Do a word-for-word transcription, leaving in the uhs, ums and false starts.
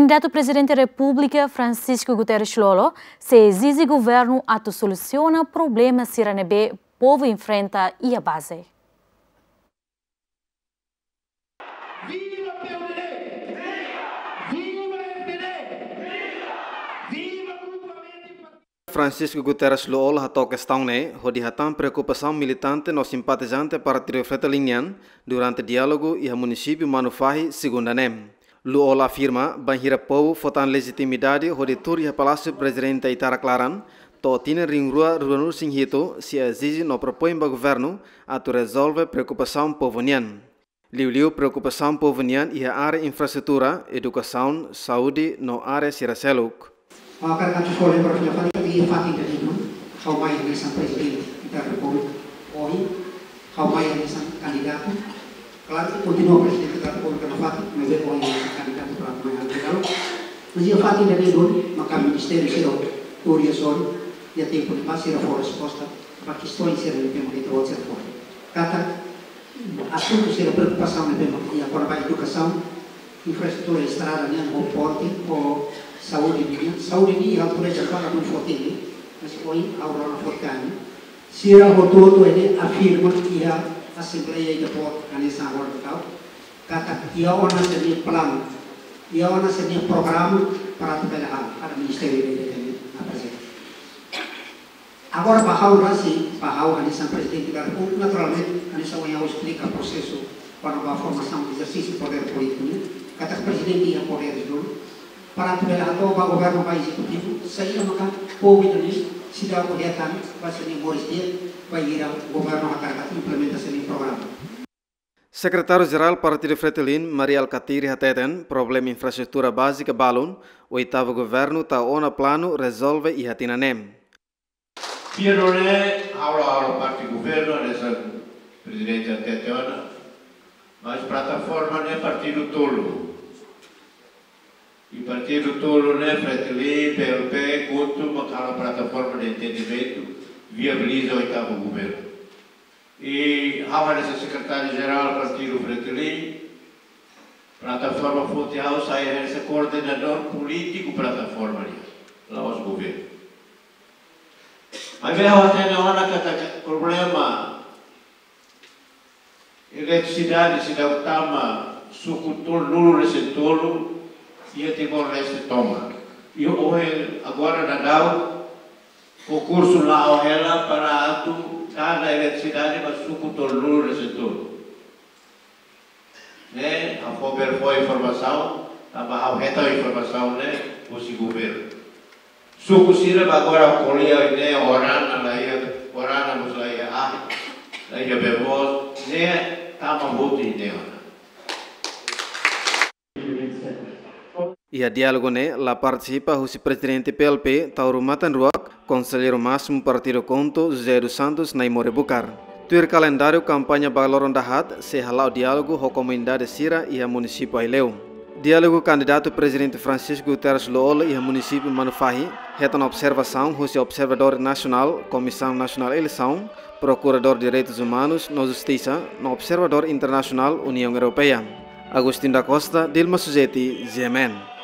Kandidatu Prezidente Repúblika Francisco Guterres Lú-Olo sei ezije governu atu solusiona problema sira ne'ebé povu enfrenta iha baze. Viva P M D! Viva F D! Viva Grupo América! Francisco Guterres Lú-Olo hato'o kestaun ne'e hodi hatán preokupasaun militante no simpatizante Partidu Fretilin nian durante diálogu iha munisípiu Manufahi, segunda ne'e. Lú-Olo afirma, bainhira povu fó tan lejitimidade hodi tuur iha Palásiu Prezidente Aitarak laran, to'o tinan rihun rua ruanulu-resin-hitu, sei ezije no propoin ba governu atu rezolve preokupasaun povu nian. Liuliu preokupasaun povu nian iha área infraestrutura, edukasaun, saúde no área sira seluk. Ha'u hakarak atu fó lembra fila fali katak iha fatin ida-ne'e duni, ha'u mai hanesan Prezidente da Repúblika, ohin, ha'u mai hanesan kandidatu. Klaru, kontinua Prezidente da Repúblika nafatin, maibé ohin hanesan kandidatu para mai halo. Mas iha fatin ida-ne'e duni, maka ministériu sira tuur iha sorin, iha tempu ne'ebá sira fó resposta ba kestaun sira ne'ebé mak ita-boot sira fó. Katak asuntu sira preokupasaun ne'ebé mak iha kona-ba edukasaun, infraestrutura estrada nian, ho ponte, ho saúde nian. Saúde nian, ha'u pode jafala dun foti, mas ohin ha'u rona foti ka ne'e. Sira hotu-hotu ne'e afirma iha asembleia ida boot hanesan agora tau. Katak iha ona sira-nia planu, iha ona sira-nia programa para atu bele halo, kada ministériu ida-ida tenke aprezenta. Agora, ba ha'u rasik, ba ha'u hanesan Prezidente da Repúblika, naturalmente, hanesan ohin ha'u esplika prosesu kona-ba formasaun ezersísiu podér polítiku ne'e, katak Prezidente iha podér duni, para atu bele hato'o ba governu ba ezekutivu, saida maka povu ida-ne'e seidauk hetan ba sira-nia moris di'ak, bainhira governu hakarak atu implementa sira-nia programa. Sekretáriu-Jerál Partidu Fretilin, Mari Alkatiri hateten, problema infraestrutura bázika balun, oitavu governu tau ona planu rezolve iha tinan ne'e. Pia no ne, ha'u la halo parte governu, hanesan Prezidente hatete ona, mas plataforma ne'e partidu tolu. I partidu tolu ne'e, Fretilin, P L P, KHUNTO, mak halo plataforma de entendimentu, viabiliza oitavu governu. I ha'u hanesan Sekretáriu-Jerál Partidu Fretilin, plataforma foti ha'u sai hanesan koordenadór polítiku plataforma nian, la'ós governu. Maibé ha'u hatene ona katak problema eletrisidade seidauk tama suku tolunulu-resin-tolu iha Timor-Leste tomak. I ohin agora daudaun konkursu la'o hela para atu dada eletrisidade ba suku tolunulu-resin-tolu. Ne'e, ha'u fó bele fó informasaun, tanba ha'u hetan informasaun ne'e husi governu. Suku sira ba agora ko'alia ne'e Orana la iha, Orana mós la iha ahi, la iha bee moos, ne'e tama hotu iha ne'e ona. Iha diálogu ne'e la partisipa husi Prezidente P L P, Taur Matan Ruak, Konselleiru Másimu Partidu KHUNTO, José dos Santos Naimore Bucar. Tuir kalendáriu kampaña ba loron dahaat, sei hala'o diálogu ho komunidade sira iha munisípiu Aileu. Diálogu kandidatu Prezidente Francisco Guterres Lú-Olo iha munisípiu Manufahi, hetan observasaun husi observadór nasionál, Komisaun Nasionál Eleisaun, Prokuradór Direitus Umanus no Justisa, no observadór internasionál Uniaun Europeia. Agostinho da Costa, Dilma Suzeti, G M N.